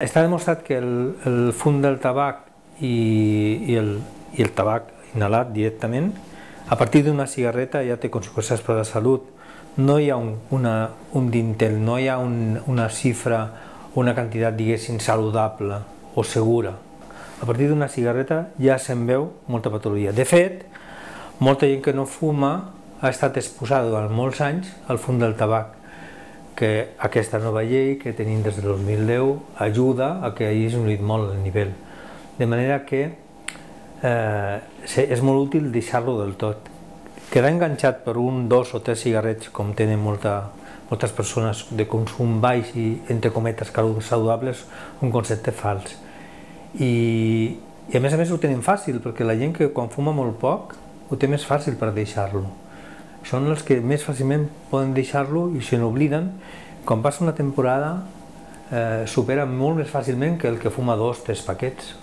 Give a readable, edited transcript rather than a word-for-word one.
Està demostrat que el fum del tabac i el tabac inhalat directament, a partir d'una cigarreta ja té conseqüències per a la salut. No hi ha un dintel, no hi ha una xifra, una quantitat, diguéssim, saludable o segura. A partir d'una cigarreta ja se'n veu molta patologia. De fet, molta gent que no fuma ha estat exposada durant molts anys al fum del tabac, que aquesta nova llei que tenim des del 2010 ajuda a que hagi disminuït molt el nivell. De manera que és molt útil deixar-lo del tot. Quedar enganxat per un, dos o tres cigarrets, com tenen moltes persones de consum baix i, entre cometes, saludables, un concepte fals. I a més ho tenen fàcil, perquè la gent que quan fuma molt poc ho té més fàcil per deixar-lo. Són els que més fàcilment poden deixar-lo i se n'obliden. Quan passa una temporada supera molt més fàcilment que el que fuma 2 o 3 paquets.